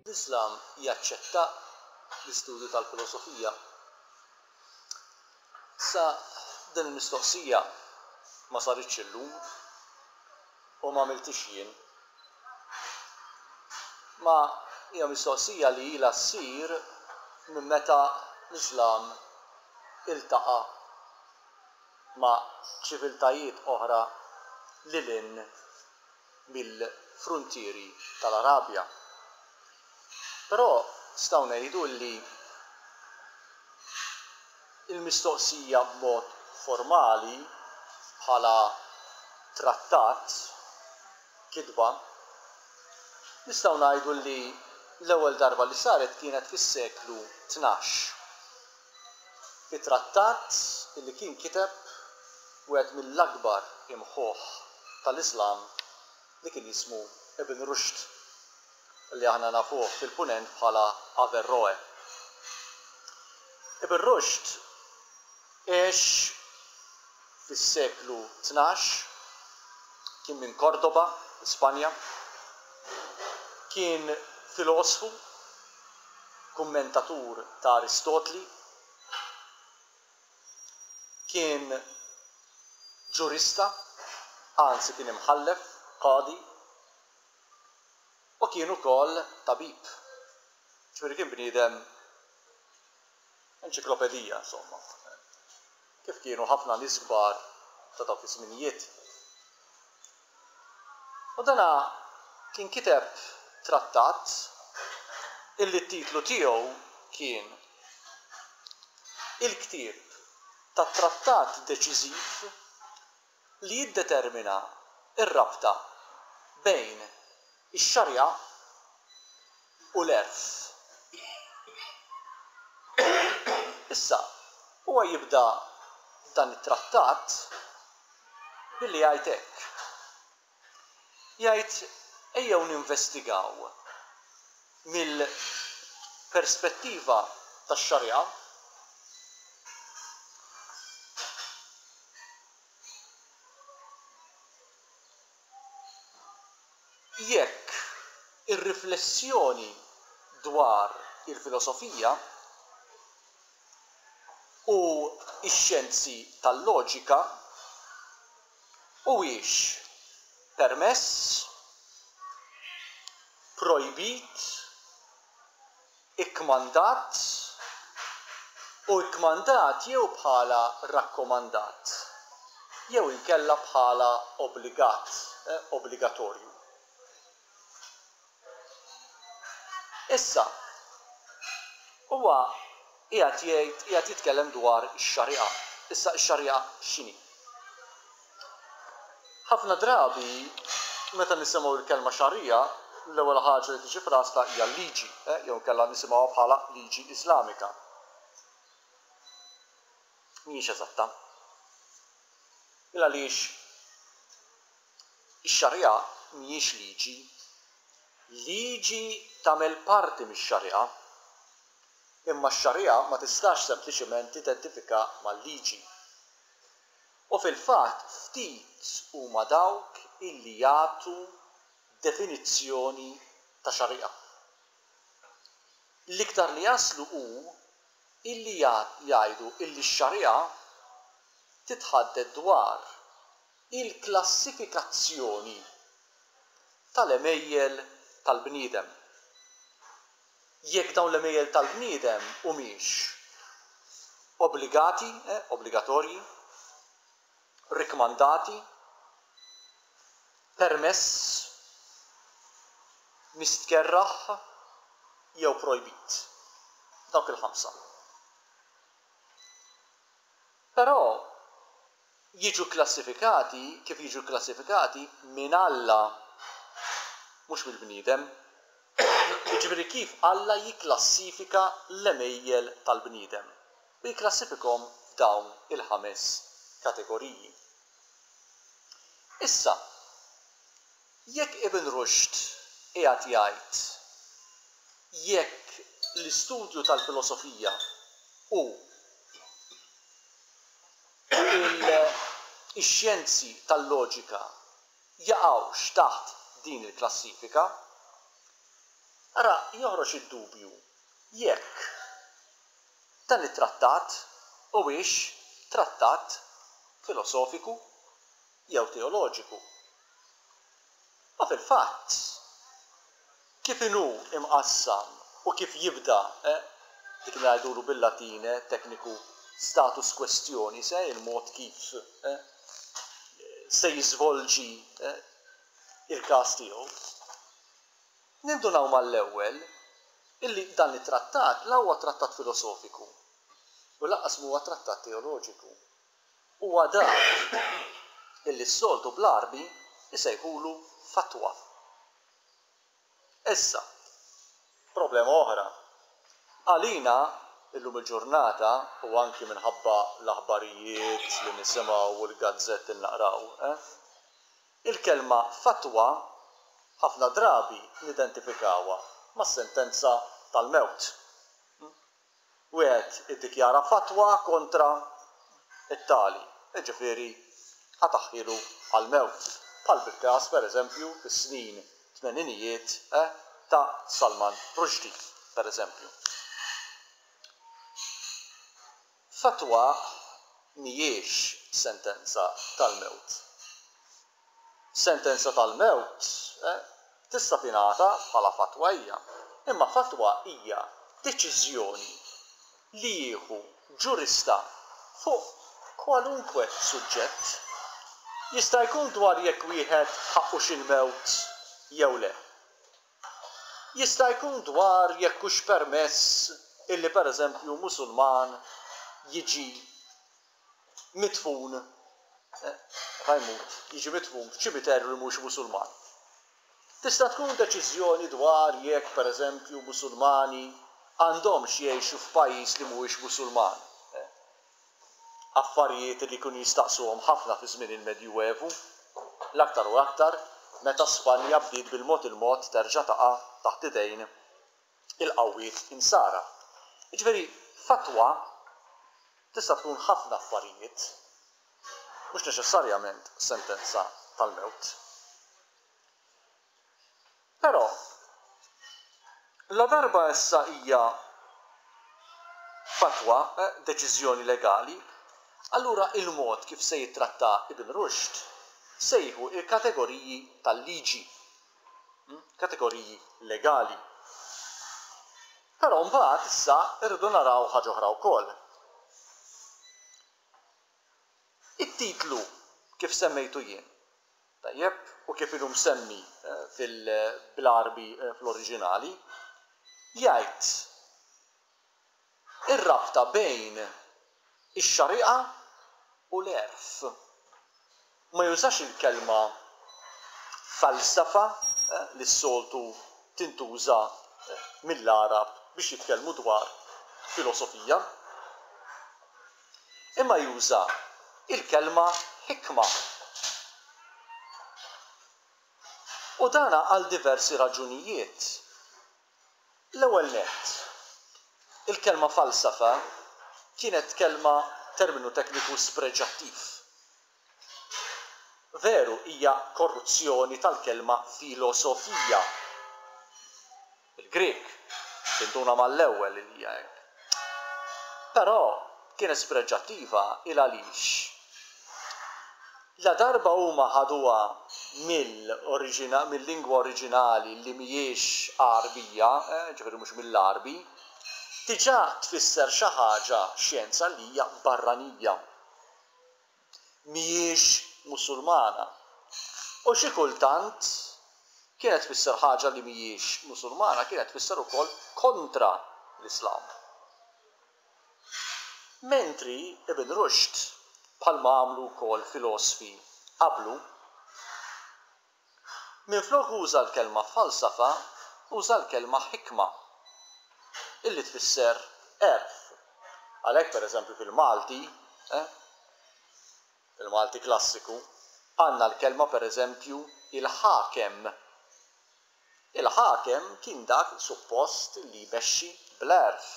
L-Islam jaċċetta l-istudju tal-filosofija? Issa din il-mistoqsija ma saritx illum u ma għamilthiex jien. Ma hija mistoqsija li ilha ssir minn meta l-Islam iltaqa' ma' ċiviltajiet oħra lil hinn mill-fruntieri tal-Arabja. Però nistgħu ngħidu li l-mistoqsija b'mod formali bħala trattat, kitba, nistgħu ngħidu li l-ewwel darba li saret kienet fis-seklu 12. Fi trattat li kien kiteb wieħed mill-akbar imħuħ tal-Iżlam li kien jismu Ibn Rushd, li aħna nafuh fil-Punent bħala Averroe. Ibn Rushd għex fis-seklu 12, kien minn Cordoba, Spanja, kien filosfu, kummentatur ta' Aristotli, kien ġurista, anzi kien imħallef, qadi, u kien ukoll tabib. Ġifieri kien bniedem enċiklopedija, insomma, kif kienu ħafna nies kbar ta' dawk iż-żminijiet. U dana kien kiteb trattat illi t-titlu tiegħu kien Il-ktieb tat-trattat deċiżiv li jiddetermina r-rabta bejn ix-Xari'a u l-għerf. Issa, huwa jibda dan it-trattat billi jgħid hekk. Jgħid ejjew ninvestigaw mill-perspettiva tax-Xari'a jekk ir-riflessjoni dwar il-filosofija u x-xjenzi tal-loġika huwiex permess, projbit, ikkmandat, u ikkmandat jew bħala rakkomandat jew inkella bħala obbligat, obbligatorju. Issa, huwa qiegħed jgħid, qiegħed jitkellem dwar ix-Xari'a. Issa x-Xari'a x'inhi? Ħafna drabi meta nisimgħu l-kelma Xari'a, l-ewwel ħaġa li tiġi f'rasna hija l-liġi, jew inkella nisimgħuha bħala liġi Iżlamika. Mhijiex eżatta. Il għaliex Ix-Xari'a mhijiex liġi. Liġi tagħmel parti mix-Xari'a. Imma x-Xari'a ma tistax sempliċement tidentifika mal-liġi. U fil-fatt ftit huma dawk illi jagħtu definizzjoni ta' Xari'a. L-iktar li jaslu hu illi jgħidu illi x-Xari'a titħaddet dwar il-klassifikazzjoni tal-għemejjel tal-bniedem. Jekk dawn l-għemejjel tal-bniedem humiex obbligati, obbligatorji, rikkmandati, permess, mistkerrah jew projbit. Dawk il-ħamsa. Però jiġu kklassifikati kif jiġu kklassifikati minn Alla, mhux mill-bniedem. Jiġifieri kif Alla jikklassifika l-għemejjel tal-bniedem u jikklassifikhom f'dawn il-ħames kategoriji. Issa, jekk Ibn Rushd qiegħed jgħid jekk l-istudju tal-filosofija hu ix-xjenzi tal-loġika jaqgħux taħt din il-klassifika. Ara joħroġ id-dubju jekk dan it-trattat huwiex trattat filosofiku jew teoloġiku. Ma fil-fatt, kif inhu imqassam u kif jibda, dik li ngħidulu bil-Latin tekniku status quaestionis, il-mod kif se jiżvolġi il-każ tiegħu, nindunaw mal-ewwel illi dan it-trattat la huwa trattat filosofiku u lanqas m'huwa trattat teoloġiku. Huwa dak illi s-soltu bl-Għarbi jsejħulu fatwa. Issa, problema oħra. Għalina, illum il-ġurnata, u anki minħabba l-aħbarijiet li nisimgħu u l-gazzetti li naqraw, il-kelma fatwa ħafna drabi nidentifikawha mas-sentenza tal-mewt. Wieħed iddikjara fatwa kontra t-tali, jiġifieri qatagħhielu għall-mewt, bħal fil-każ, pereżempju, fis-snin tmeninijiet ta' Salman Rushdie, pereżempju. Fatwa mhijiex sentenza tal-mewt. Sentenza tal-mewt tista' tingħata bħala fatwa hija, imma fatwa hija deċiżjoni li jieħu ġurista fuq kwalunkwe suġġett. Jista' jkun dwar jekk wieħed ħaqqux il-mewt jew le. Jista' jkun dwar jekk hux permess illi pereżempju Musulman jiġi midfun, meta jmut, jiġi midfun f'ċimiterju li mhuwiex Musulman. Tista' tkun deċiżjoni dwar jekk, pereżempju, Musulmani għandhomx jgħixu f'pajjiż li mhuwiex Musulman. Affarijiet li kienu jistaqsuhom ħafna fi żmien il-Medjuevu, l-aktar u l-aktar meta Spanja bdiet bil-mod il-mod terġa' taqa' taħt idejn il-qawwiet Insara. Jiġifieri fatwa tista' tkun ħafna affarijiet, mhux neċessarjament sentenza tal-mewt. Però, ladarba issa hija fatwa, deċiżjoni legali, allura il-mod kif se jittratta Ibn Rushd se jieħu l-kategoriji tal-liġi. kategoriji legali. Però mbagħad issa rridu naraw ħaġa oħra wkoll. It-titlu kif semmejtu jien, tajjeb, u kif inhu msemmi fil-bl-Għarbi fl-oriġinali, jgħid Ir-rabta bejn ix-Xari'a u l-għerf. Ma jużax il-kelma falsafa li s-soltu tintuża mill-Għarab biex jitkellmu dwar filosofija. Imma juża l-kelma hikma. U dan għal diversi raġunijiet. L-ewwel nett, il-kelma falsafa kienet kelma terminu tekniku spreġattiv. Veru hija korruzzjoni tal-kelma filosofija. Bil-Grieg, tinduna mal-ewwel li hija hekk. Però kienet spreġattiva il għaliex Ladarba huma ħaduha mill-lingwa oriġinali li mhijiex Għarbija, jiġifieri mhux mill-Għarbi, diġà tfisser xi ħaġa, xjenza li hija barranija. Mhijiex Musulmana. U xi kultant kienet tfisser ħaġa li mhijiex Musulmana, kienet tfisser ukoll kontra l-Islam. Mentri Ibn Rushd, bħalma għamlu wkoll filosfi qablu, minflok uża l-kelma falsafa uża l-kelma hikma, illi tfisser għerf. Għalhekk pereżempju fil-Malti, fil-Malti klassiku, għandna l-kelma pereżempju il-ħakem. Il-ħakem kien dak suppost li jmexxi bl-għerf.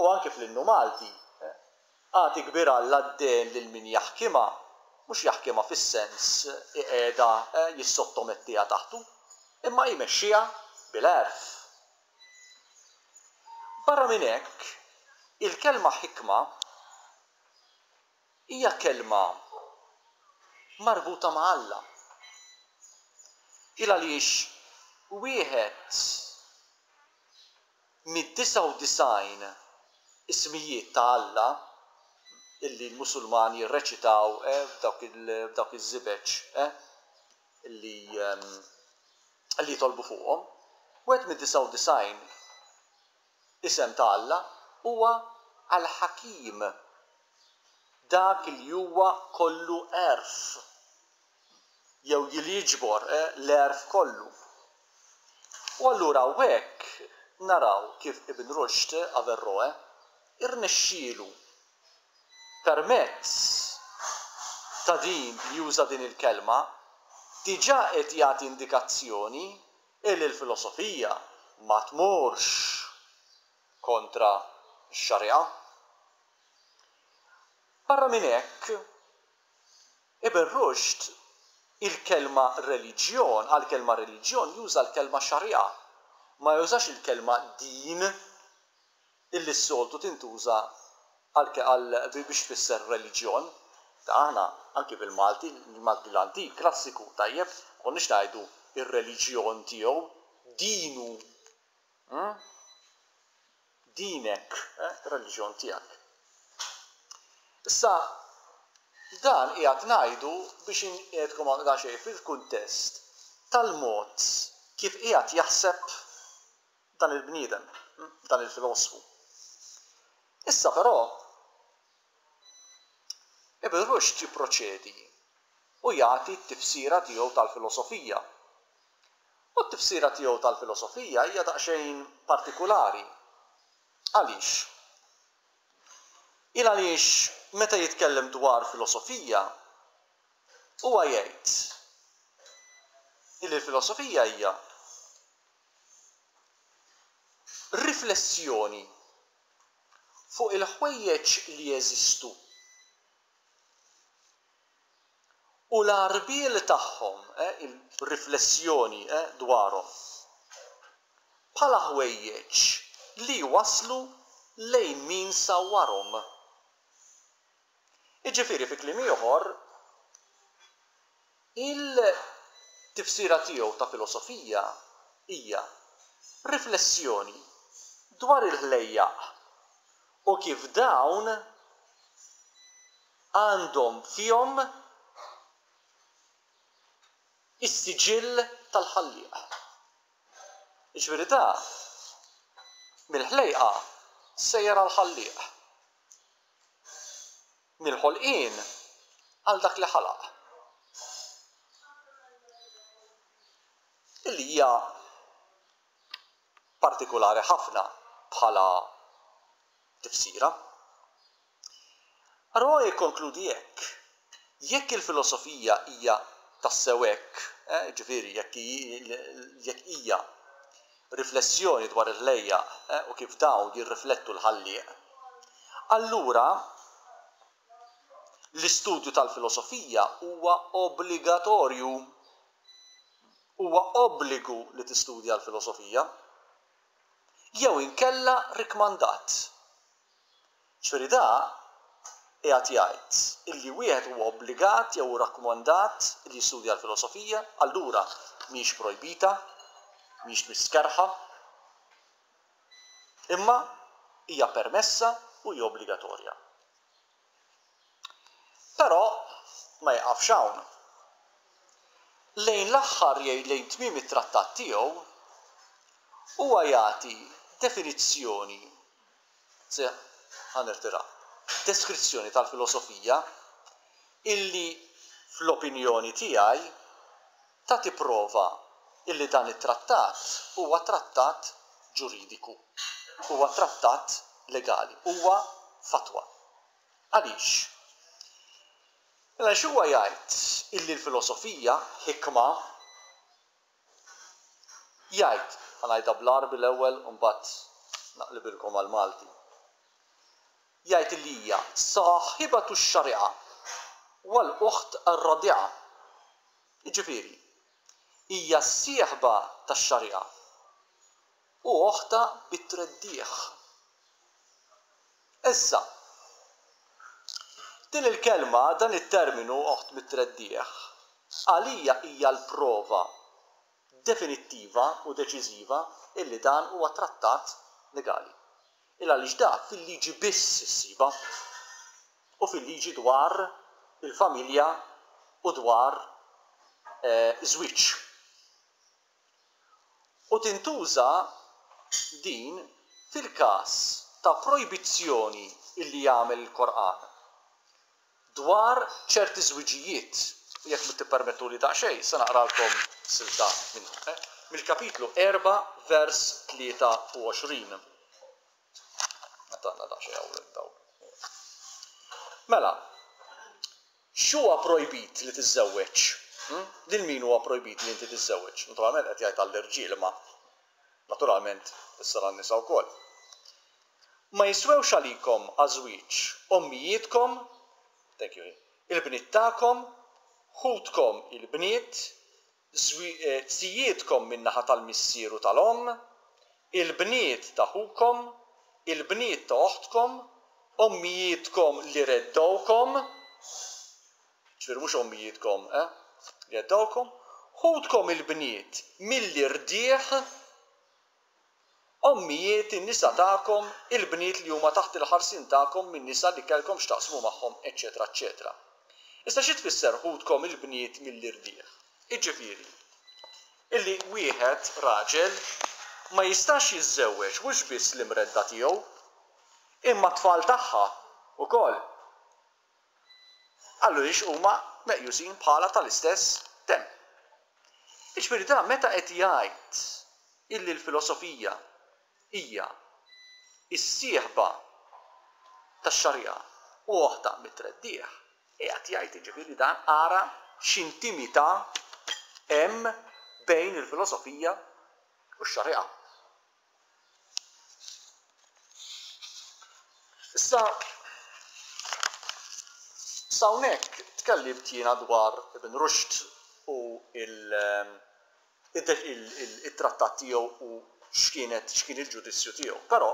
U anki fl-innu Malti, Agħti kbir Alla d-dehen lil min jaħkimha, mhux jaħkimha fis-sens iqiegħdha, jissottomettiha taħtu, imma jmexxiha bil-għerf. bil-għerf. Barra minn hekk, il-kelma ħikma hija kelma marbuta ma' Alla. Il għaliex wieħed mid-99 ismijiet ta' Alla illi l-Musulmani jirreċitaw f'dawk iż-żibeġ illi li jitolbu fuqhom, wieħed mid-99 isem ta' Alla huwa Al-Ħakim, dak li huwa kollu għerf, jew li jiġbor l-għerf kollu. U allura hawnhekk naraw kif Ibn Rushd, Averroe, irnexxielu permezz ta' din li juża din il-kelma, diġà qed jagħti indikazzjoni illi l-filosofija ma tmurx kontra x-Xari'a. Barra minn hekk, Ibn Rushd il-kelma reliġjon, għall-kelma reliġjon juża l-kelma Xari'a, ma jużax il-kelma din. illi s-soltu tintuża għal biex tfisser reliġjon, ta' aħna anki bil-Malti, il-Malti l-antik, klassiku, tajjeb, ma konniex ngħidu r-reliġjon tiegħu, dinu, hm? Dinek, eh, ir-reliġjon tiegħek. Issa, dan qiegħed ngħidu biex inqiegħdkom daqsxejn fil-kuntest tal-mod kif qiegħed jaħseb dan il-bniedem, dan il-filosfu. Issa però, Ibn Rushd jipproċedi u jagħti t-tifsira tiegħu tal-filosofija. U t-tifsira tiegħu tal-filosofija hija daqsxejn partikulari. Għaliex? Il għaliex meta jitkellem dwar filosofija, huwa jgħid illi l-filosofija hija Riflessjoni fuq il-ħwejjeġ li jeżistu u l-għarbiel tagħhom, il-riflessjoni dwarhom, bħala ħwejjeġ li jwasslu lejn min sawwarhom. Jiġifieri fi kliem ieħor, il-tifsira tiegħu ta' filosofija hija riflessjoni dwar il-ħlejjaq u kif dawn għandhom fihom is-siġill tal-Ħallieq. Jiġifieri da mill-ħlejqa sejjer għall-Ħallieq. Mill-ħolqien għal dak li ħalaq. Illi hija partikulari ħafna bħala tifsira. Roy jikkonkludi hekk, Jekk il-filosofija hija tassew hekk, jiġifieri jekk jekk hija riflessjoni dwar il-ħlejjaq u kif dawn jirriflettu l-Ħallieq, allura l-istudju tal-filosofija huwa obbligatorju. Huwa obbligu li tistudja l-filosofija. Jew inkella rikkmandat. Ġifieri da qiegħed jgħid illi wieħed huwa obbligat jew hu rakkomandat illi jistudja l-filosofija, allura mhijiex projbita, mhijiex mistkerrħa, imma hija permessa u hija obbligatorja. Però ma jiqafx hawn. Lejn l-aħħar jew lejn tmiem it-trattat tiegħu, huwa jagħti definizzjoni Se, ħa nirtira. Deskrizzjoni tal-filosofija illi fl-opinjoni tiegħi tagħti prova illi dan it-trattat huwa trattat ġuridiku, huwa trattat legali, huwa fatwa. Għaliex? Mela għaliex huwa jgħid illi l-filosofija, hikma, Jgħid, ħa ngħidha bl-Għarbi l-ewwel u mbagħad naqlibilkom għall-Malti. Jgħid illi hija sahibatu x-xari'a wal ukht ar-radi'a. Jiġifieri, hija s-sieħba tax-xari'a. U oħtha bit-treddigħ. Issa, din il-kelma, dan it-terminu oħt mit-treddigħ, għalija hija l-prova definittiva u deċiżiva illi dan huwa trattat legali. Il għaliex dak fil-liġi biss issibha u fil-liġi dwar il-familja u dwar żwieġ. U tintuża din fil-każ ta' projbizzjoni illi jagħmel il-Korqan dwar ċerti żwiġijiet, u jekk tippermettuli daqsxejn se naqralkom silta minnu, mill-kapitlu 4 vers 23. Meta għandna daqsxejn hawn dawl. Mela, x'huwa projbit li tiżżewweġ? Lil min huwa projbit li inti tiżżewweġ? Naturalment qed jgħid għall-irġiel imma naturalment issa għan-nisa wkoll. Ma jiswewx għalikom għaż-żwieġ ommijietkom, thank you, il-bniet tagħkom, ħutkom il-bniet, zijietkom min-naħa tal-missier u tal-omm, il-bniet ta' ħukom, il-bniet ta' oħtkom, ommijietkom li reddgħukom, ġifieri mhux ommijietkom, eh, li reddgħukom, ħutkom il-bniet mill-irdigħ, Ommijiet in-nisa tagħkom, il-bniet li huma taħt il-ħarsien tagħkom min-nisa li kellkom x'taqsmu magħhom, eċċetera eċċetera. Issa xi tfisser ħutkom il-bniet mill-irdigħ? Jiġifieri, illi wieħed, raġel, ma jistax jiżżewweġ mhux biss l-imredda tiegħu, imma t-tfal tagħha wkoll. Għaliex huma meqjusin bħala tal-istess demm. Jiġifieri dan meta qed jgħid illi l-filosofija hija s-sieħba tax-xari'a u oħtha mit-treddigħ, qiegħed jgħid jiġifieri dan ara x'intimità hemm bejn il-filosofija u x-xari'a. Issa, s'hawnhekk tkellimt jiena dwar Ibn Rushd u il-trattat tiegħu u x'kienet x'kien il-ġudizzju tiegħu. Però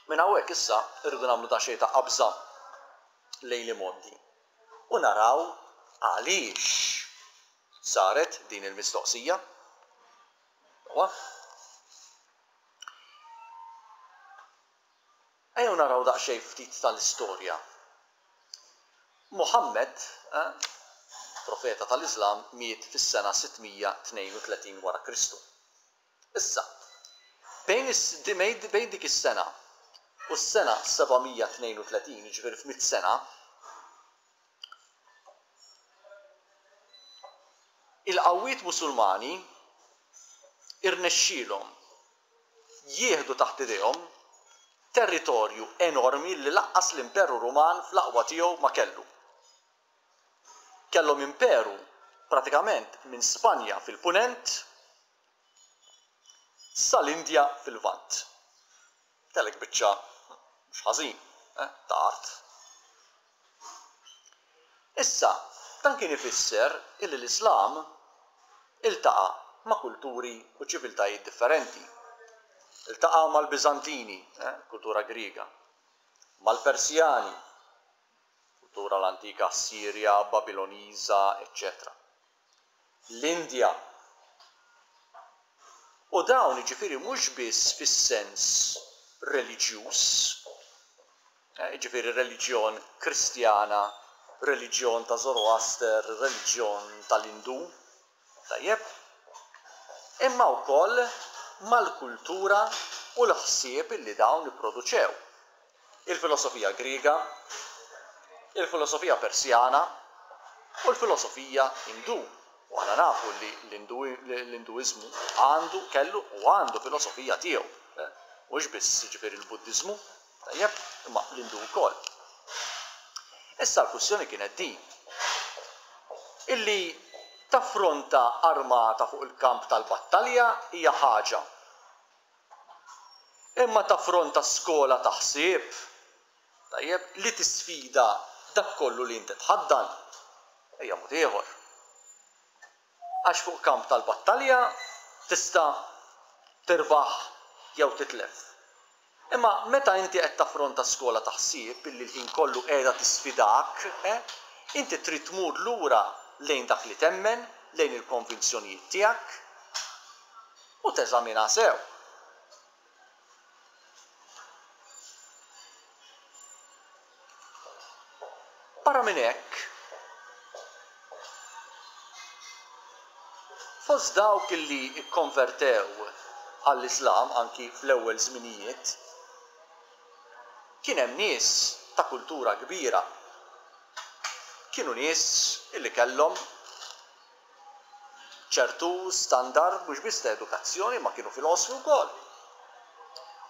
minn hawnhekk issa rridu nagħmlu daqsxejn ta' qabża lejn l-imgħoddi u naraw għaliex saret din il-mistoqsija. Sewwa? Ejjew naraw daqsxejn ftit tal-istorja. Muħammed, profeta tal-Iżlam, miet fis-sena 632 wara Kristu. Issa, bejn bejn dik is-sena u s-sena 732, jiġifieri f'mitt sena, Il-qawwiet Musulmani rnexxielhom jieħdu taħt idejhom territorju enormi li lanqas l-Imperu Ruman fl-aqwa tiegħu ma kellu. Kellhom imperu pratikament minn Spanja fil-Punent sal-Indja fil-Lvant. Kellek biċċa mhux ħażin ta' art. Issa, dan kien ifisser illi l-Islam iltaqa' ma' kulturi u ċiviltajiet differenti. Iltaqa' mal-Biżantini, kultura Griega, mal-Persjani, kultura l-antika Assirja, Babiloniża, eċċetera. L-Indja. U dawn jiġifieri mhux biss fis-sens reliġjuż, jiġifieri reliġjon Kristjana, reliġjon ta' Zoroaster, reliġjon tal-Indu, tajjeb, imma wkoll mal-kultura u l-ħsieb li dawn ipproduċew. Il-filosofija Griega, il-filosofija Persjana u l-filosofija Indu. U aħna nafu li l-Induiżmu għandu, kellu u għandu filosofija tiegħu. Mhux biss jiġifieri l-Buddiżmu, tajjeb, imma l-Indu wkoll. Issa l-kwistjoni kienet din, illi taffronta armata fuq il-kamp tal-battalja hija ħaġa. Imma taffronta skola ta' ħsieb, tajjeb, li tisfida dak kollu li inti tħaddan, hija mod ieħor. Għax fuq kamp tal-battalja Tista' tirbaħ jew titlef. Imma meta inti qed taffronta skola ta' ħsieb illi l-ħin kollu qiegħda tisfidak, eh, inti trid tmur lura lejn dak li temmen, lejn il-konvinzjonijiet tiegħek u teżaminha sew. Barra minn hekk, fost dawk li kkonvertew għall-Iżlam anki fl-ewwel żminijiet, kien hemm nies ta' kultura kbira. Kienu nies li kellhom ċertu standard mhux biss ta' edukazzjoni imma kienu filosfi wkoll.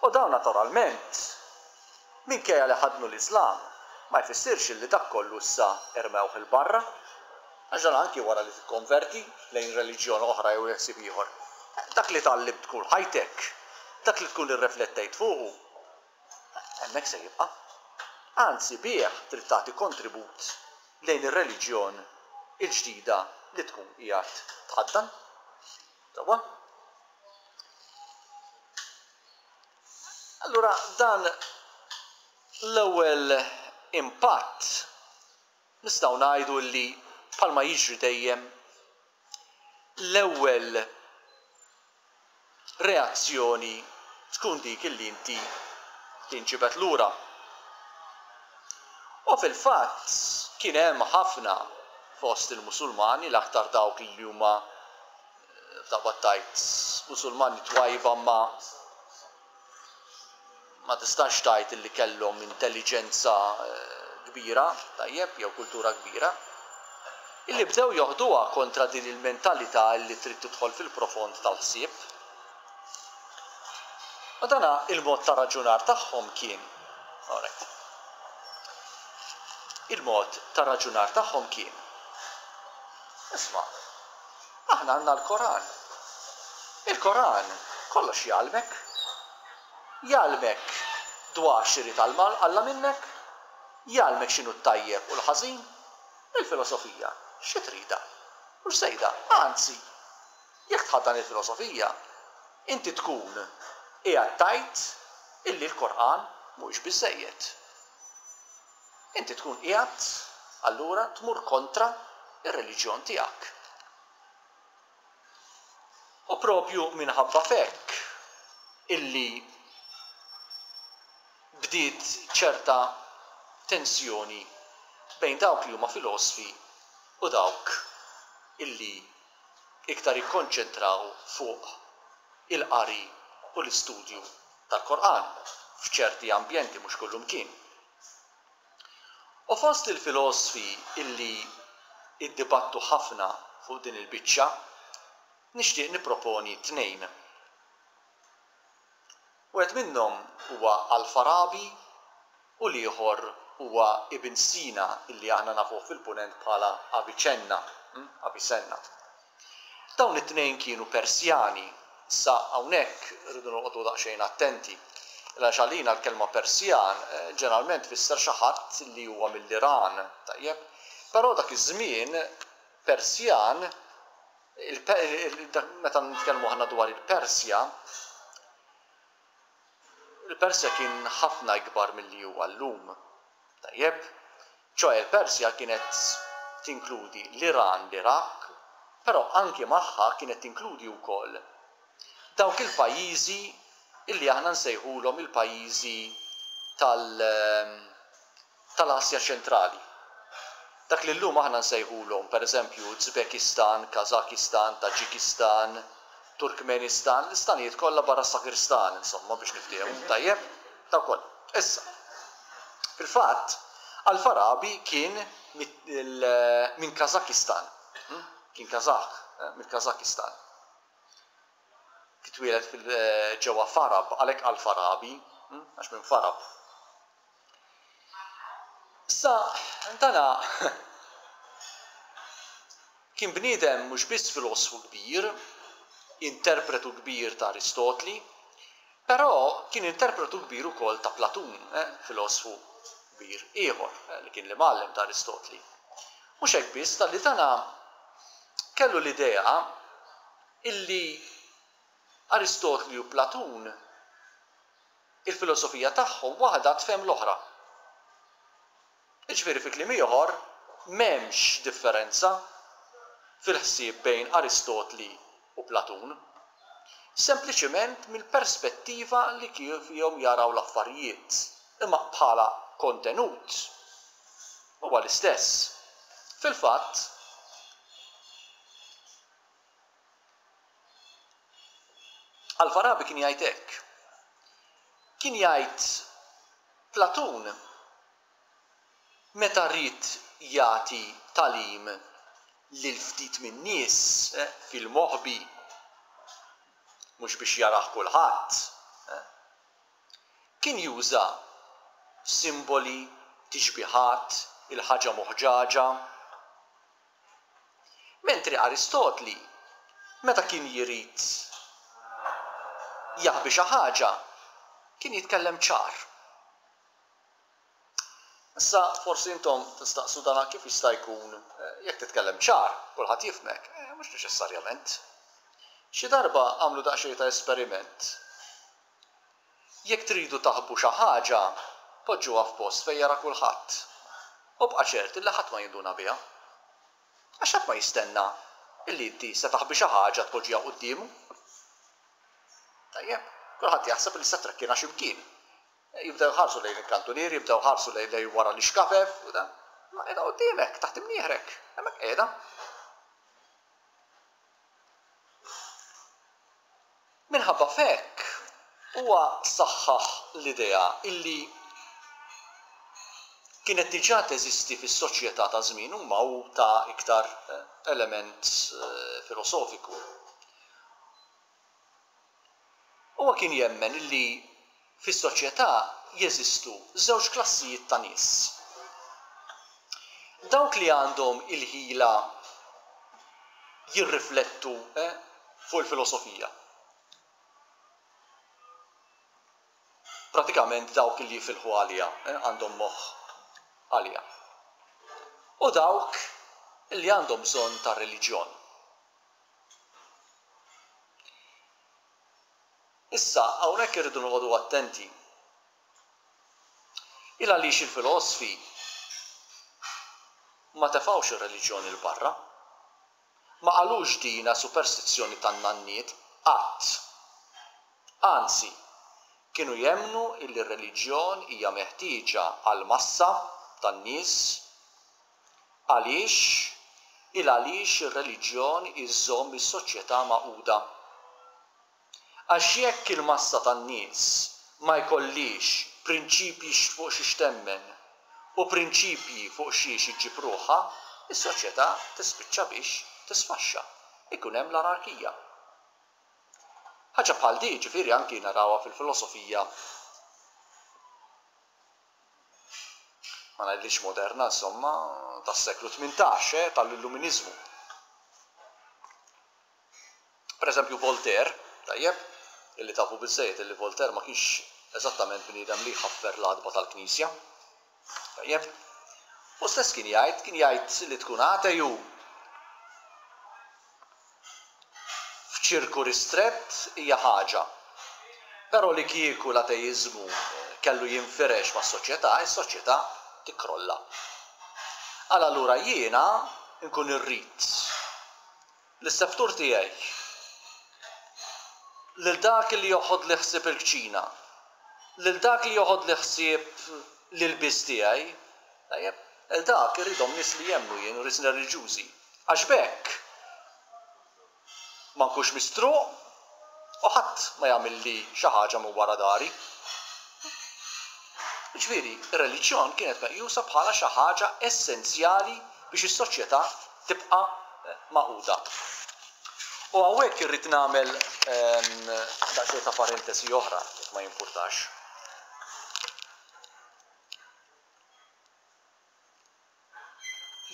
U dawn naturalment, minkejja li ħaddnu l-Iżlam, ma jfissirx illi dak kollu issa rmewh 'il barra. Għax dan anki wara li tikkonverti lejn reliġjon oħra jew ħsieb ieħor, dak li tgħallimt tul ħajtek, dak li tkun irreflettejt fuqu, hemmhekk se jibqa'. Anzi bih trid tagħti kontribut lejn ir-reliġjon il-ġdida li tkun qiegħed tħaddan. Sewwa? Allura dan l-ewwel impatt nistgħu ngħidu li bħalma jiġri dejjem l-ewwel reazzjoni tkun dik illi inti tinġibed lura. U fil-fatt kien hemm ħafna fost il-Musulmani, l-aktar dawk li huma f'daqqa tgħid Musulmani twajba ma ma tistax tgħid illi kellhom intelliġenza kbira, tajjeb, jew kultura kbira, illi bdew joħduha kontra din il-mentalità illi trid tidħol fil-profond tal-ħsieb. U dana il-mod ta' raġunar tagħhom kien, alright, il-mod ta' raġunar tagħhom kien, isma', aħna għandna l-Koran. Il-Koran kollox jgħallmek. Jgħallmek dwar x'irid Alla minnek, jgħallmek x'inhu t-tajjeb u l-ħażin. Il-filosofija xi tridha? Mhux żejda, anzi, jekk tħaddan il-filosofija, inti tkun qiegħed tgħid illi l-Koran mhuwiex biżżejjed. Inti tkun qiegħed allura tmur kontra r-reliġjon tiegħek. U propju minħabba f'hekk illi bdiet ċerta tensjoni bejn dawk li huma filosfi u dawk illi iktar jikkonċentraw fuq il-qari u l-istudju tal-Korqan f'ċerti ambjenti mhux kullumkien. U fost il-filosfi illi iddibattu ħafna fuq din il-biċċa, nixtieq nipproponi tnejn. Wieħed minnhom huwa Al-Farabi u l-ieħor huwa Ibn Sina illi aħna nafuh fil-Punent bħala Avicenna, Avicenna. Dawn it-tnejn kienu Persjani. Issa hawnhekk irridu noqogħdu daqsxejn attenti. Għaliex għalina l-kelma Persjan ġeneralment tfisser xi ħadd li huwa mill-Iran, tajjeb? Però dak iż-żmien Persjan, meta nitkellmu aħna dwar il-Persja, Il-Persja kien ħafna ikbar milli huwa llum. Tajjeb? Ċoe l-Persja kienet tinkludi l-Iran, l-Iraq, però anki magħha kienet tinkludi wkoll dawk il-pajjiżi illi aħna nsejħulhom il-pajjiżi tal tal-Asja Ċentrali. Dak li llum aħna nsejħulhom, per eżempju, Uzbekistan, Kazakistan, Taġikistan, Turkmenistan, l-istanijiet kollha barra s-Sakirstan, insomma, biex niftehmu, tajjeb? Dawk kollha. Issa, fil-fatt, Al-Farabi kien minn Kazakistan, kien Kazakh, mill-Kazakistan. Twieled ġewwa Farab, għalhekk Al-Farabi, għax minn Farab. Issa, dana kien bniedem mhux biss filosfu kbir, interpretu kbir ta' Aristotli, però kien interpretu kbir ukoll ta' Platun, filosfu kbir ieħor li kien l-imgħallem ta' Aristotli. Mhux hekk biss, talli dana kellu l-idea illi. Aristotli u Platun, il-filosofija tagħhom waħda tfhem l-oħra. Jiġifieri fi kliem ieħor, m'hemmx differenza fil-ħsieb bejn Aristotli u Platun. Sempliċement mill-perspettiva li kif fihom jaraw l-affarijiet, imma bħala kontenut huwa l-istess. Fil-fatt, Al-Farabi kien jgħid hekk. Kien jgħid Platun meta ried jagħti tagħlim lil ftit min-nies fil-moħbi, mhux biex jarah kulħadd, kien juża simboli, tixbihat, il-ħaġa moħġaġa. Mentri Aristotli, meta kien jrid jaħbi xi ħaġa, kien jitkellem ċar. Issa forsi intom tistaqsu dana kif jista' jkun jekk titkellem ċar, kulħadd jifhmek. Mhux neċessarjament. Xi darba għamlu daqsxejn ta' esperiment. Jekk tridu taħbu xi ħaġa, poġġuha f'post fejn jara kulħadd. U bqa' ċert illi ħadd ma jinduna biha. Għax ħadd ma jistenna illi inti se taħbi xi ħaġa tpoġġiha quddiemu. Tajjeb, kulħadd jaħseb li se trekkinha xi mkien. Jibdew iħarsu lejn il-kantunier, jibdew iħarsu lejn lejn wara l-ixkafef u dan. Imma qiegħda quddiemek, taħt imnieħrek, hemmhekk qiegħda. Minħabba f'hekk huwa saħħaħ l-idea illi kienet diġà teżisti fis-soċjetà ta' żmienu imma hu ta iktar element filosofiku. Huwa kien jemmen li fis-soċjetà jeżistu żewġ klassijiet ta' nies. Dawk li għandhom il-ħila jirriflettu fuq il-filosofija. Pratikament dawk li jifilħu għaliha, għandhom moħħ għaliha. U dawk li għandhom bżonn tar-reliġjon. Issa, hawnhekk irridu noqogħdu attenti. Il għaliex il-filosfi ma tefgħux ir-reliġjon 'il barra. Ma qalux dina superstizzjoni tan-nanniet, qatt. Anzi, kienu jemmnu illi r-reliġjon hija meħtieġa għall-massa tan-nies Għaliex? Il għaliex ir-reliġjon iżżomm is-soċjetà magħquda. Għax jekk il-massa tan-nies ma jkollhiex prinċipji fuq xiex temmen u prinċipji fuq xiex iġġib ruħha, is-soċjetà tispiċċa biex tisfaxxa. Ikun hemm l-anarkija. Ħaġa bħal di, ġifieri anki narawha fil-filosofija ma ngħidlix moderna insomma, tas-seklu 18, eh, tal-Illuminiżmu. Per eżempju Voltaire, tajjeb, illi tafu biżżejjed illi Voltaire ma kienx eżattament bniedem li jħaffer l-għatba tal-Knisja. Tajjeb. Hu stess kien jgħid, kien jgħid li tkun ateju F'ċirku ristrett hija ħaġa. Però li kieku l-ateiżmu kellu jinfirex mas-soċjetà, is-soċjetà tikkrolla. Għal allura jiena nkun irrid lis-seftur tiegħi, lil dak li joħodli ħsieb il-kċina, lil dak li joħodli ħsieb l-ilbies tiegħi, Tajjeb, lil dak irridhom nies li jemmnu jien u nies reliġjużi. Għax b'hekk ma nkunx mistruq u ħadd ma jagħmilli xi ħaġa minn wara dari. Jiġifieri, ir-reliġjon kienet meqjusa bħala xi ħaġa essenzjali biex is-soċjetà tibqa' magħquda. U hawnhekk irrid nagħmel daqsxejn ta' parentesi oħra, jekk ma jimpurtax.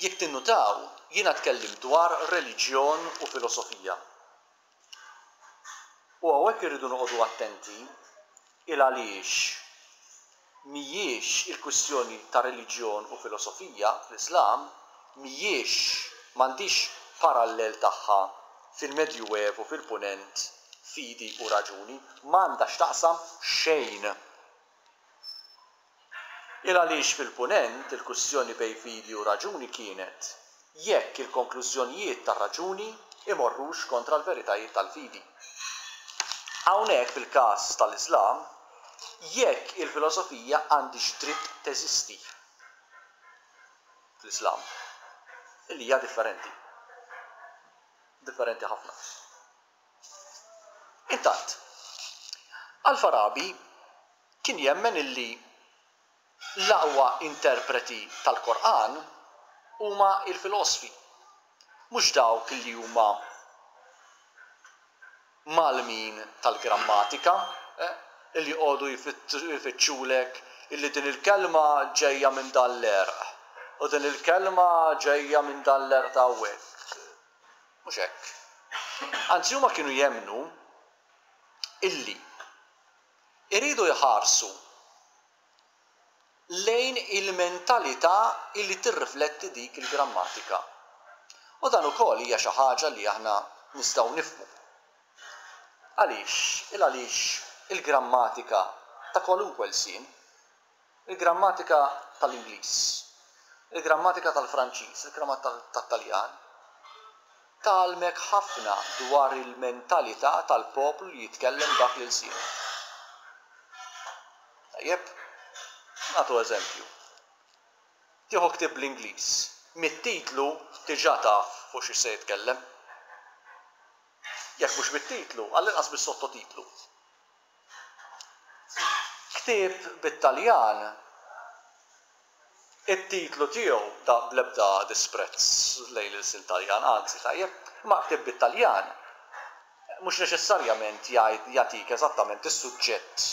Jekk tinnutaw, jiena tkellimt dwar reliġjon u filosofija. U hawnhekk irridu noqogħdu attenti il għaliex mhijiex il-kwistjoni ta' reliġjon u filosofija fl-Iżlam mhijiex m'għandhiex parallel tagħha fil-Medjuevu fil-Punent. fidi u raġuni, m'għandha x'taqsam xejn. Il għaliex fil-Punent il-kwistjoni bejn fidi u raġuni kienet jekk il-konklużjonijiet tar-raġuni imorrux kontra l-veritajiet tal-fidi. Hawnhekk fil-każ tal-Iżlam, jekk il-filosofija għandhiex dritt teżisti fl-Iżlam, illi hija differenti. Differenti ħafna. Intant, Al-Farabi kien jemmen illi l-aqwa interpreti tal-Korqan huma l-filosfi, mhux dawk li huma mgħallmin tal-grammatika, li joqogħdu jfittxulek illi din il-kelma ġejja minn dan l-għerq u din il-kelma ġejja minn dan l-għerq ta' hawnhekk. Mhux hekk. Anzi huma kienu jemmnu illi iridu jħarsu lejn il-mentalità illi tirrifletti dik il-grammatika. U dan ukoll hija xi ħaġa li aħna nistgħu nifhmu. Għaliex? Il għaliex il-grammatika ta' kwalunkwe lsien, il-grammatika tal-Ingliż, il-grammatika tal-Franċiż, il-grammatika tat-Taljan, tgħallmek ħafna dwar il-mentalità tal-poplu li jitkellem dak l-ilsien. Tajjeb? Nagħtu eżempju. Tieħu ktieb bl-Ingliż, mit-titlu diġà taf fuq xiex se jitkellem. Jekk mhux mit-titlu, għall-inqas mis-sottotitlu. Ktieb bit-Taljan, it-titlu tiegħu, da bl-ebda disprezz lejn l-ilsien Taljan, anzi, tajjeb, imma ktieb bit-Taljan mhux neċessarjament jgħid jagħtik eżattament is-suġġett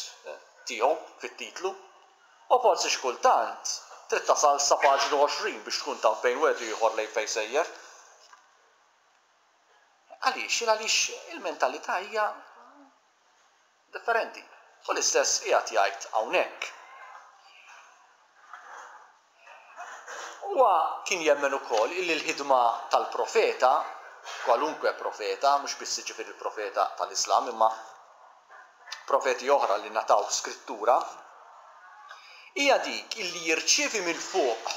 tiegħu fit-titlu. U forsi xi kultant trid tasal sa paġna 20 biex tkun taf bejn wieħed u ieħor lejn fejn sejjer. Għaliex? Il għaliex il-mentalità hija differenti. U l-istess qiegħed jgħid hawnhekk. Huwa kien jemmen ukoll illi l-ħidma tal-profeta, kwalunkwe profeta, mhux biss jiġifieri l-profeta tal-Islam imma profeti oħra li ngħataw skrittura, hija dik illi jirċievi minn fuq,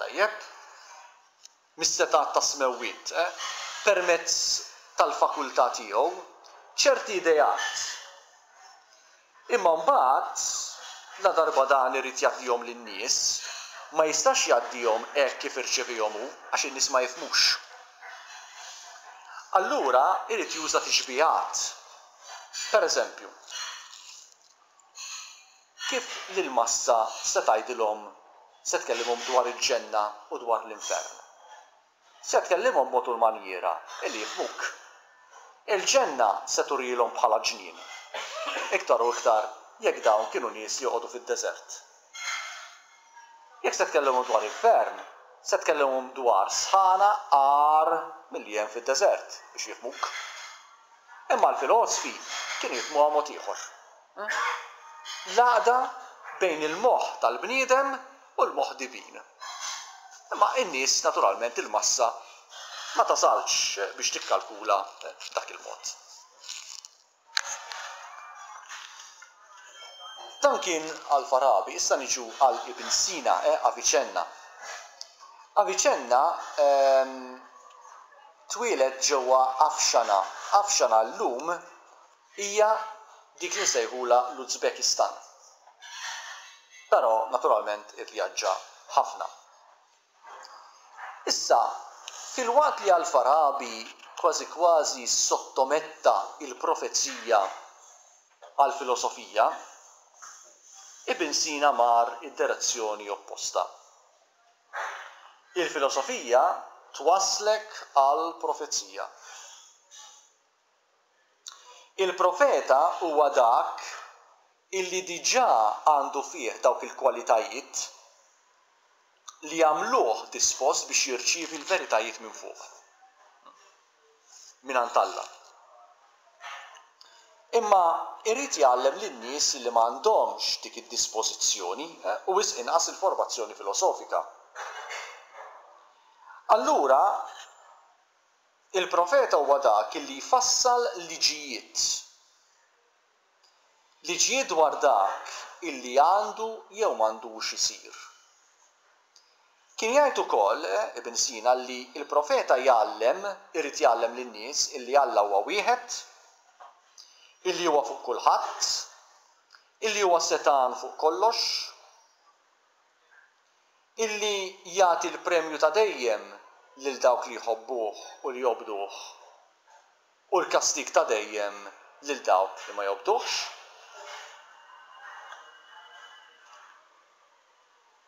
tajjeb, mis-setgħat tas-smewwiet, permezz tal-fakultà tiegħu, ċerti ideat. Imma mbagħad, ladarba dan irid jgħaddihom lin-nies, ma jistax jgħaddihom hekk kif irċevihom hu, għax in-nies ma jifhmux. Allura irid juża tixbihat. Per eżempju, kif lill-massa se tgħidilhom, se tkellimhom dwar il-ġenna u dwar l-infern? Se tkellimhom b'mod u l-manjiera li jifhmuk. Il-ġenna se turielhom bħala ġnien, iktar u iktar jekk dawn kienu nies li joqogħdu fid-deżert. Jekk se tkellimhom dwar infern, se tkellimhom dwar sħana agħar milli hemm fid-deżert biex jifhmuk. Imma l-filosfi kienu jifhmuha mod ieħor. L-għaqda bejn il-moħħ tal-bniedem u l-moħħ divin. Imma n-nies, naturalment, il-massa, ma tasalx biex tikkalkula b'dak il-mod. Dan kien Al-Farabi, issa niġu għal Ibn Sina, eh, Avicenna. Avicenna ehm, twieled ġewwa Afshana. Afshana llum hija dik li nsejħulha l-Uzbekistan. Però naturalment ivvjaġġa ħafna. Issa, filwaqt li Al-Farabi kważi kważi ssottometta l-profezija għall-filosofija, Ibn Sina mar id-direzzjoni opposta. Il-filosofija twasslek għall-profezija. Il-profeta huwa dak illi diġà għandu fih dawk il-kwalitajiet li jagħmluh dispost biex jirċievi l-veritajiet minn fuq, mingħand Alla. Imma jrid jgħallem lin-nies li m'għandhomx dik id-dispożizzjoni, u wisq inqas il-formazzjoni filosofika. Allura. Il-profeta huwa dak li jfassal liġijiet. Liġijiet dwar dak illi għandu jew m'għandux isir. Kien jgħid ukoll Ibn Sina li l-profeta jgħallem, irid jgħallem lin-nies illi Alla huwa wieħed, illi huwa fuq kulħadd, illi huwa setgħan fuq kollox, illi jagħti l-premju ta' dejjem lil dawk li jħobbuh u li jobduh u l-kastig ta' dejjem lil dawk li ma jobduhx.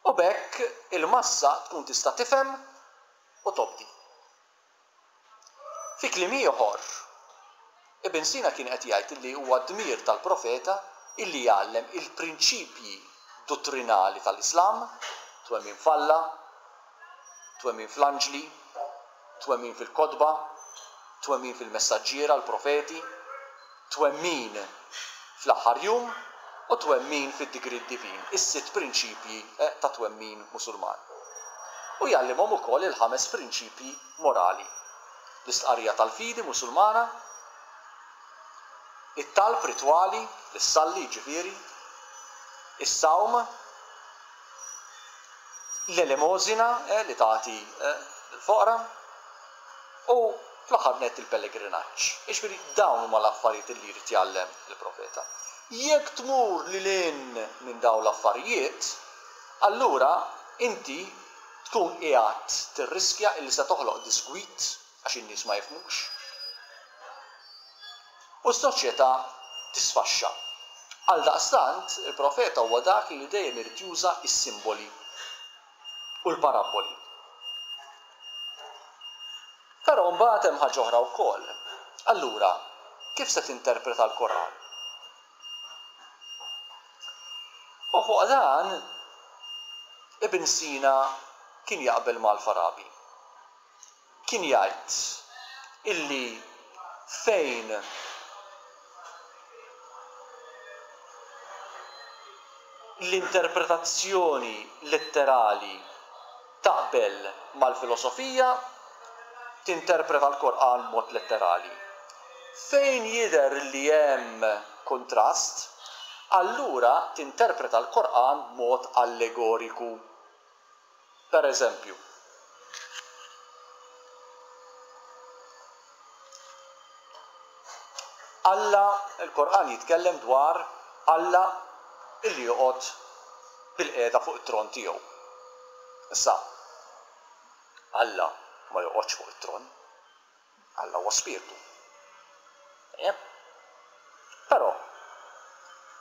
U b'hekk il-massa tkun tista' tifhem u tobdi. Fi kliem ieħor, Ibn Sina kien qed jgħid illi huwa dmir tal-profeta illi jgħallem il-prinċipji duttrinali tal-Islam, twemmin f'Alla, twemmin fl-anġli, twemmin fil-kotba, twemmin fil-messaġġiera, l-profeti, twemmin fl-aħħar jum u twemmin fid-digriet divin, is-sitt prinċipji ta' twemmin Musulman. U jgħallimhom ukoll il-ħames prinċipji morali, l-istqarrija tal-fidi Musulmana, it-talb ritwali, li ssalli jiġifieri, is-sawm, l-elemosina, li tagħti lill-foqra, u fl-aħħar nett il-pellegrinaġġ. Jiġifieri dawn huma l-affarijiet li jrid jgħallem il-profeta. Jekk tmur lil hinn minn dawn l-affarijiet, allura inti tkun qiegħed tirriskja illi se toħloq diżgwid għax in-nies ma jifhmux. U s-soċjetà tisfaxxa. Għaldaqstant, il-profeta huwa dak li dejjem irid juża s-simboli u l-parabboli. Però mbagħad hemm ħaġa oħra wkoll. Allura, kif se tinterpreta l-Koran? U fuq dan, Ibn Sina kien jaqbel ma' Al-Farabi. Kien jgħid illi fejn l-interpretazzjoni letterali taqbel mal-filosofija, tinterpreta l-Korqan b'mod letterali. Fejn jidher li hemm kuntrast, allura tinterpreta l-Korqan b'mod allegoriku. Per eżempju. Alla, il-Korqan jitkellem dwar Alla illi joqgħod bilqiegħda fuq it-tron tiegħu. Issa, Alla ma joqgħodx fuq it-tron. Alla huwa spirtu. Tajjeb? Però,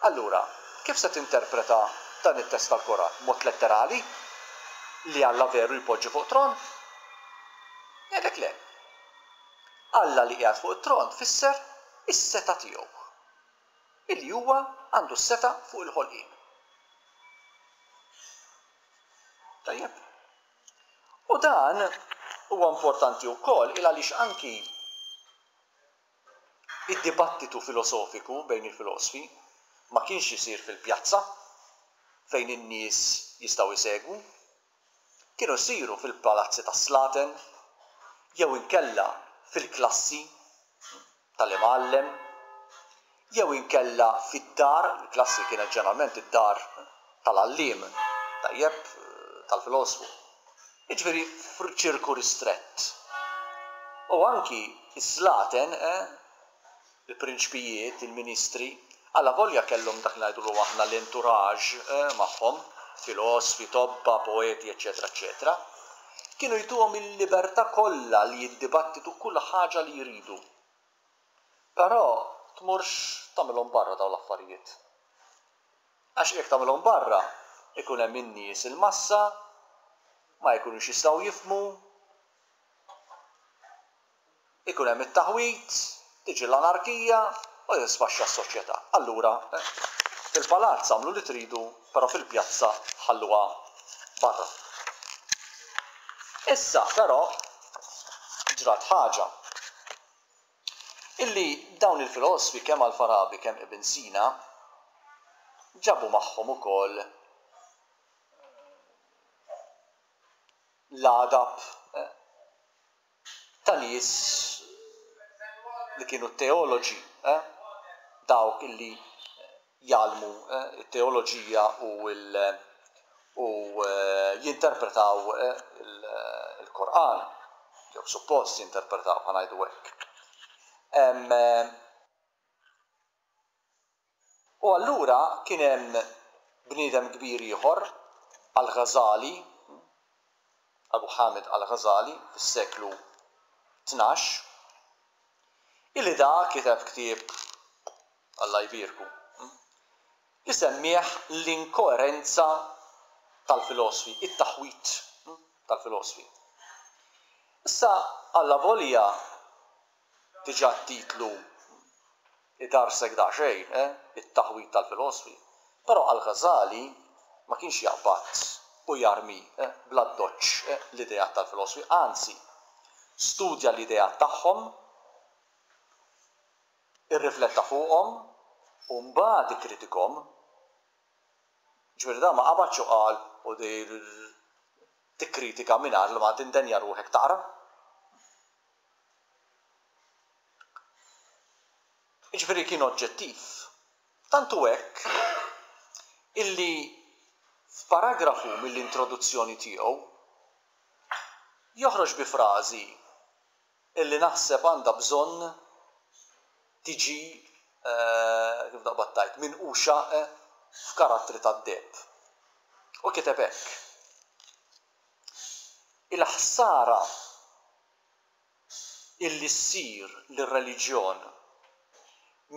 allura, kif se tinterpreta dan it-test tal-Koran? B'mod letterali? Li Alla veru jpoġġi fuq tron? Ngħidlek le. Alla li qiegħed fuq it-tron tfisser is-setgħa tiegħu. Illi huwa għandu s-setgħa fuq il-ħolqien. Tajjeb? U dan huwa importanti wkoll il għaliex anki id-dibattitu filosofiku bejn il-filosfi ma kienx isir fil-pjazza fejn in-nies jistgħu jsegwu. Kienu jsiru fil-palazzi tas-slaten jew inkella fil-klassi tal-imgħallem jew inkella fid-dar, il-klassi kienet ġeneralment id-dar tal-għalliem, tajjeb, tal-filosfu. Jiġifieri f'ċirku ristrett. U anki s-slaten, il-prinċpijiet, il-ministri, allavolja kellhom dak li ngħidulu aħna l-entourage magħhom, filosfi, tobba, poeti, eċċetera eċċetera, kienu jtuhom il-libertà kollha li jiddibattitu kull ħaġa li jridu. Però tmurx tagħmilhom barra dawn l-affarijiet. Għax jekk tagħmilhom barra, ikun hemm in-nies il-massa, ma jkunux jistgħu jifhmu, ikun hemm it-taħwid, tiġi l-anarkija u tisfaxxa s-soċjetà. Allura, fil-palazz agħmlu li tridu, però fil-pjazza ħalluha barra. Issa, però, ġrat ħaġa. Illi dawn il-filosfi kemm Al-Farabi kemm Ibn Sina ġabu magħhom ukoll l-għadab ta' nies. li kienu teoloġi, eh, dawk illi jgħallmu t-teoloġija u u jinterpretaw il-Korqan, jew suppost jinterpretaw, ħa ngħidu hekk. U allura kien hemm bniedem kbir ieħor, Al-Ghazali, Abu Hamid Al-Ghazali, fis-seklu 12, illi da kiteb ktieb, Alla jbierku, li semmieh l-inkoerenza tal-filosfi, it-taħwid tal-filosfi. Issa allavolja diġà t-titlu idarsek daqsxejn, eh, it-taħwid tal-filosfi, però Al-Ghazali ma kienx jaqbad u jarmi, eh, bl-addoċċ, eh, l-ideat tal-filosfi, anzi, studja l-ideat tagħhom, irrifletta fuqhom u mbagħad ikkritikhom. Ġifieri dan ma qabadx u qal u tikkritika mingħajr ma tindenja ruħek taqra. Jiġifieri kien oġġettiv. Tant hu hekk illi f'paragrafu mill-introduzzjoni tiegħu joħroġ bi frażi illi naħseb għandha bżonn tiġi, kif taqbad tgħid, minquxa f'karattri tad-deheb. U kiteb hekk, Il-ħsara illi ssir lir-reliġjon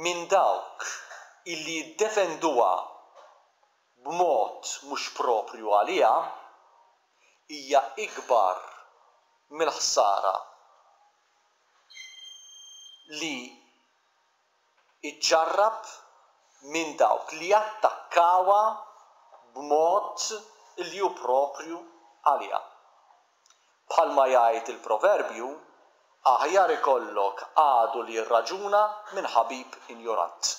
minn dawk illi jiddefenduha b'mod mhux proprju għaliha hija ikbar mill-ħsara li ġġarrab minn dawk li jattakkawha b'mod li hu proprju għaliha. Bħalma jgħid il-proverbju, aħjar ikollok għadu li jirraġuna minn ħabib injorant.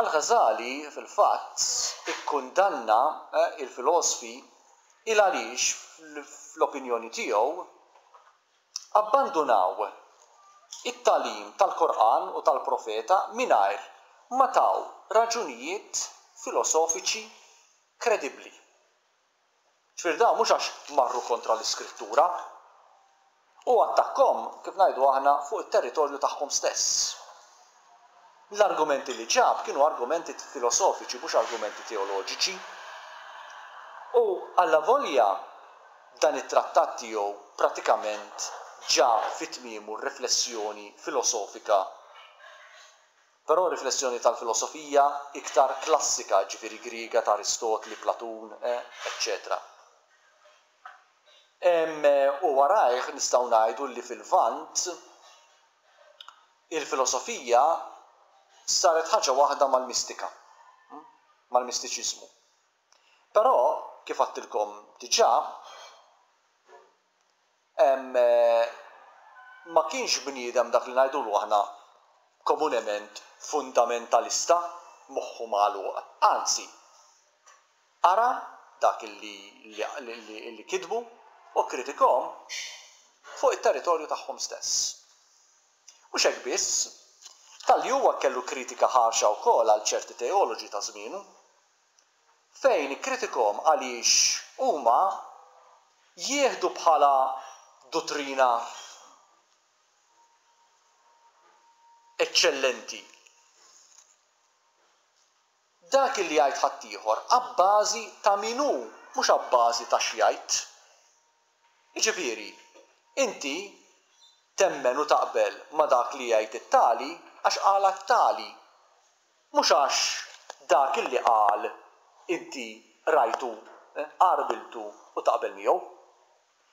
Al-Ghazali fil-fatt ikkundanna l-filosfi il għaliex fl-opinjoni tiegħu abbandunaw it-tagħlim tal-Korqan u tal-Profeta mingħajr ma taw raġunijiet filosofiċi kredibbli. Ġifieri dawn mhux għax marru kontra l-Iskrittura. Hu attakkhom, kif ngħidu aħna, fuq it-territorju tagħhom stess. L-argumenti li ġab kienu argumenti filosofiċi mhux argumenti teoloġiċi. U allavolja dan it-trattat tiegħu pratikament ġab fi tmiemu r-riflessjoni filosofika Però riflessjoni tal-filosofija iktar klassika, jiġifieri Griega ta' Aristotli, Platun, eċċetera. U warajh nistgħu ngħidu li fil-Lvant il-filosofija saret ħaġa waħda mal-mistika, mal-mistiċiżmu. Però, kif għadtilkom diġà, ma kienx bniedem dak li ngħidulu aħna komunement fundamentalista, moħħu magħluq. Anzi, qara dak li li kitbu u kkritikahom fuq it-territorju tagħhom stess. Mhux hekk biss, talli huwa kellu kritika ħarxa wkoll għal ċerti teoloġi ta' żmienu. fejn ikkritikhom għaliex huma jieħdu bħala duttrina eċċellenti dak li jgħid ħaddieħor abbażi ta' min hu, mhux abbażi ta' x'jgħid. Jiġifieri, inti temmen u taqbel ma' dak li jgħid it-tali għax qalha t-tali, Mhux għax dak illi qal inti qrajtu, għarbiltu u taqbel miegħu.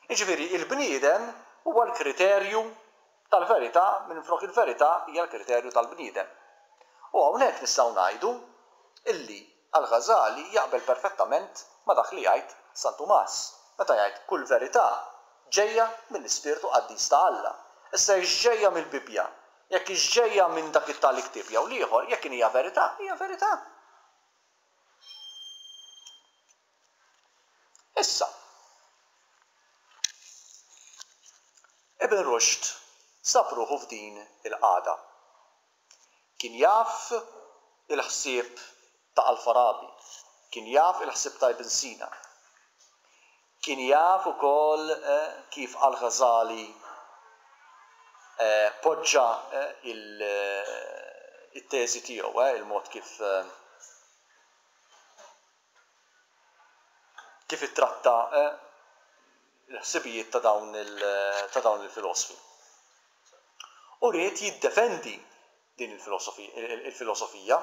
Jiġifieri il-bniedem huwa l-kriterju tal-verità minflok il-verità hija l-kriterju tal-bniedem. U hawnhekk nistgħu ngħidu illi Al-Ghazali jaqbel perfettament ma' dak li jgħid San Tumas meta jgħid kull verità ġejja mill-Ispirtu Qaddis ta' Alla. Issa jekk ġejja mill-Bibbja Jekk hix ġejja minn dak it-tali ktieb jew l-ieħor, jekk inhija verità, hija verità. Issa, Ibn Rushd sab ruħu f'din il-qagħda. Kien jaf il-ħsieb ta' Al-Farabi, kien jaf il-ħsieb ta' Ibn Sina, kien jaf ukoll kif Al-Ghazali poġġa il-teżi tiegħu, il-mod kif kif ittratta l-ħsibijiet ta' dawn ta' dawn il-filosfi. U ried jiddefendi din il-filosofija.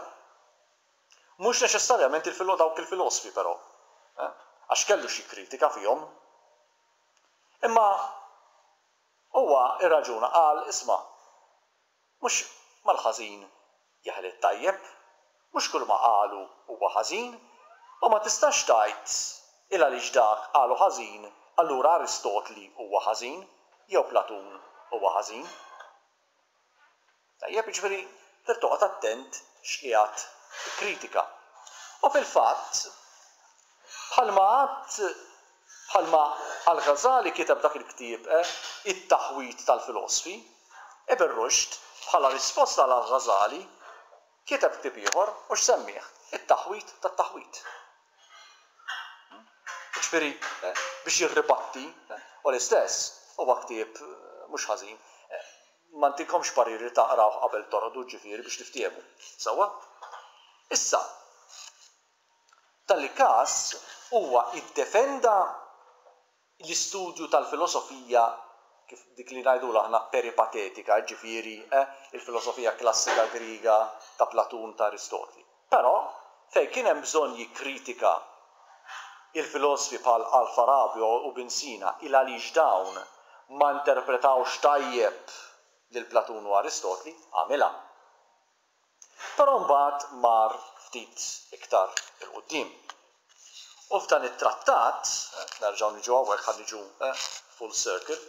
Mhux neċessarjament il dawk il-filosfi però, għax kellu xi kritika fihom. Imma huwa rraġuna qal isma' Mhux mal-ħażin jeħel it-tajjeb, mhux kull ma qalu huwa ħażin, u ma tistax tgħid il għaliex dak qalu ħażin allura Aristotli huwa ħażin jew Platun huwa ħażin. Tajjeb, jiġifieri trid toqgħod attent x'qiegħed tikkritika. U fil-fatt, bħalma għadt, bħalma Al-Ghazali kiteb dak il-ktieb It-Taħwid tal-Filosfi, Ibn Rushd, bħala risposta għal Al-Ghazali, kiteb ktieb ieħor u x'semmih? It-Taħwid tat-Taħwid. Jiġifieri biex jirribatti, u l-istess huwa ktieb mhux ħażin. Ma ntikomx parir li taqrawh qabel torqdu, ġifieri biex niftiehmu. Sewwa? Issa, f'dan il-każ huwa iddefenda l-istudju tal-filosofija kif dik li ngħidulha aħna peripatetika, jiġifieri, il-filosofija klassika Griega ta' Platun, ta' Aristotli. Però, fejn kien hemm bżonn jikkritika il-filosfi bħal Al-Farabi u Ibn Sina il għaliex dawn ma interpretawx tajjeb lil Platun u Aristotli, għamilha. Però mbagħad mar ftit iktar 'il quddiem. U f'dan it-trattat, nerġgħu niġu hawnhekk ħa niġu full circle,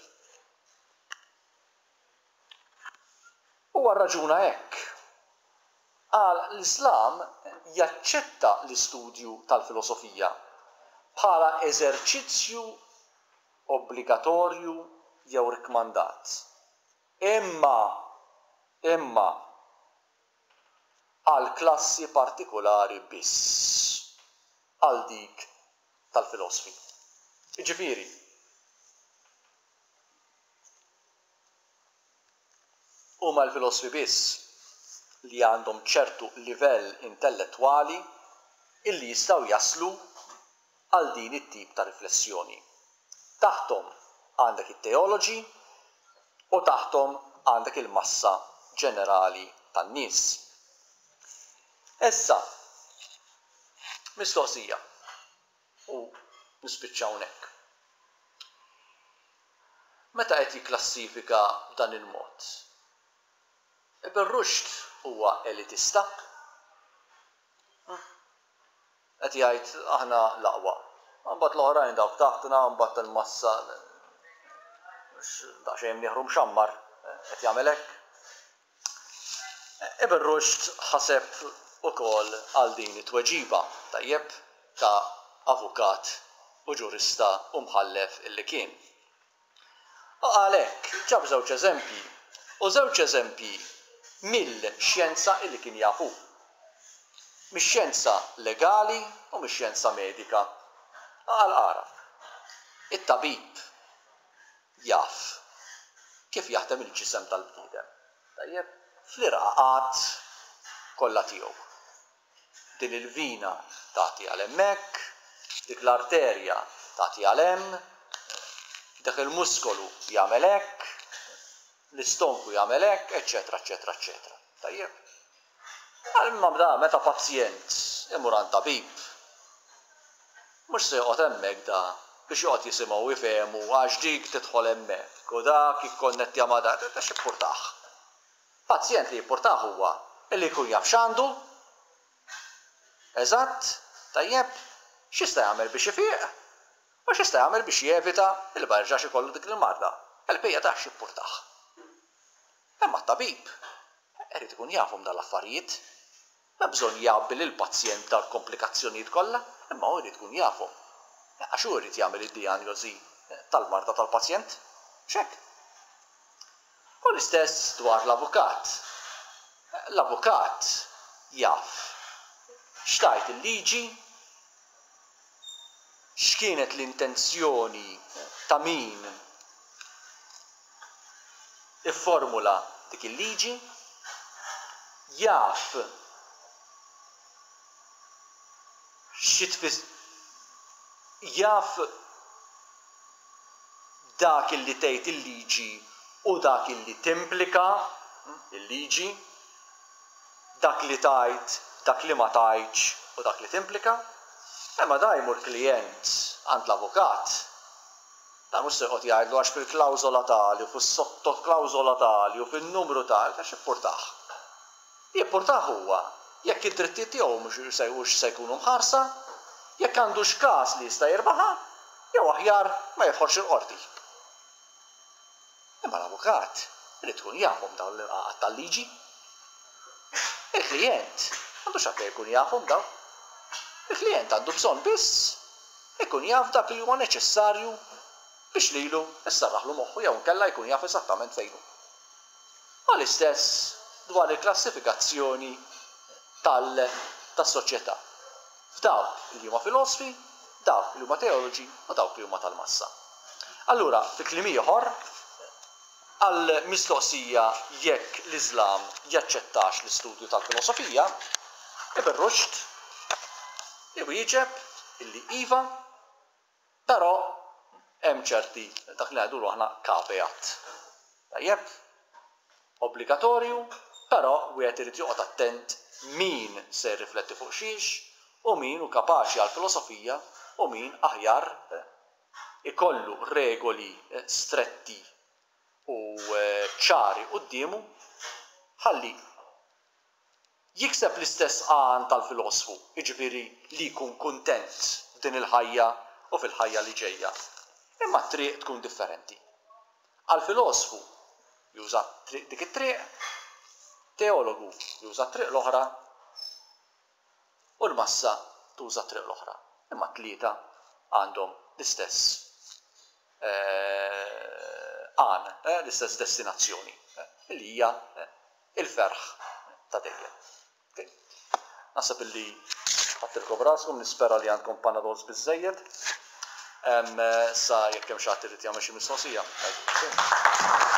huwa rraġuna hekk, Qal l-Islam jaċċetta l-istudju tal-filosofija bħala eżerċizzju obbligatorju jew rikkmandat. Imma, imma, għal klassi partikulari biss, għal dik tal-filosfi. Jiġifieri, Huma l-filosfi biss li għandhom ċertu livell intellettwali illi jistgħu jaslu għal din it-tip ta' riflessjoni. Taħthom għandek it-teoloġi u taħthom għandek il-massa ġenerali tan-nies. Issa, mistoqsija, u nispiċċa hawnhekk. Meta qed jikklassifika b'dan il-mod, Ibn Rushd huwa elitista? Qed jgħid aħna l-aqwa. Imbagħad l-oħrajn dawk taħtna, imbagħad il-massa daqsxejn imnieħru mxammar qed jagħmel hekk. Ibn Rushd ħaseb ukoll għal din it-tweġiba, tajjeb, ta' avukat u ġurista u mħallef illi kien. U qal hekk, ġab żewġ eżempji, u żewġ eżempji mill-xjenza illi kien jaf hu. Mix-xjenza legali u mix-xjenza medika. U qal ara, it-tabib jaf kif jaħdem il-ġisem tal-bniedem. Tajjeb? Fl-irqaqat kollha tiegħu. Din il-vina tagħti għal hemmhekk, dik l-arterja tagħti għal hemm, dak il-muskolu jagħmel hekk, l-istonku jagħmel hekk, eċċetera, eċċetera, eċċetera. Tajjeb? Imma da meta pazjent imur għand tabib, mhux se joqgħod hemmhekk da biex joqgħod jisimgħu u jfehmu għax dik tidħol hemmhekk u dak jikkonnettja ma' dak, da x'ippurtah? Pazjent li jippurtah huwa li jkun jaf x'għandu eżatt, tajjeb, x'jista' jagħmel biex ifiq u x'jista' jagħmel biex jevita li ma jerġax ikollu dik il-marda. Il-bqija da x'ippurtah? Imma t-tabib irid ikun jafhom dawn l-affarijiet. M'hemm bżonn jgħabbi lill-pazjent b'dawn il-komplikazzjonijiet kollha, imma hu jrid ikun jafhom. Għax hu jrid jagħmel id-dijanjosi tal-marda tal-pazjent. Mhux hekk? U l-istess dwar l-avukat. L-avukat jaf x'tgħid il-liġi, x'kienet l-intenzjoni ta' min ifformula dik il-liġi, jaf xi tfis jaf dak illi tgħid il-liġi u dak illi timplika l-liġi, dak li tgħid, dak li ma tgħidx u dak li timplika. Imma da jmur klijent għand l-avukat, dan mhux se joqgħod jgħidlu għax fil-klawżola tali u fis-sottoklawżola tali u fin-numru tali, għax jippurtah. Jippurtah huwa jekk id-drittijiet tiegħu hux se jkunu mħarsa, jekk għandux każ li jista' jirbaħha, jew aħjar ma jidħolx il-qorti. Imma l-avukat irid ikun jafhom dawn l-irqaqat tal-liġi. Il-klijent m'għandux għalfejn ikun jafhom dawn. Il-klijent għandu bżonn biss ikun jaf dak li huwa neċessarju biex lilu sserraħlu moħħu jew inkella jkun jaf eżattament fejn hu. U l-istess dwar il-klassifikazzjoni tal tas-soċjetà f'dawk li huma filosfi, dawk li huma teoloġi u dawk li huma tal-massa. Allura, fi kliem ieħor, għall-mistoqsija jekk l-Iżlam jaċċettax l-istudju tal-filosofija, Ibn Rushd iwieġeb illi iva, Però hemm ċerti, dak li ngħidulu aħna caveat. Tajjeb? Obbligatorju, però wieħed irid joqgħod attent min se jirrifletti fuq xiex u min hu kapaċi għall-filosofija u min aħjar ikollu regoli stretti u ċari quddiemu ħalli Jikseb l-istess għan tal-filosfu, jiġifieri li jkun kuntent f'din il-ħajja u fil-ħajja li ġejja. Imma t-triq tkun differenti. Għall-filosfu juża triq dik it-triq, teologu juża t-triq l-oħra u l-massa tuża t-triq l-oħra. Imma t-tlieta għandhom l-istess għan, l-istess destinazzjoni, li hija il-ferħ ta' dejjem. Ok. Naħseb illi ħadtilkom raskom, nispera li għandkom panadols biżżejjed. Sa jekk hemm xi ħadd irid jagħmel xi mistoqsija, ngħidulu.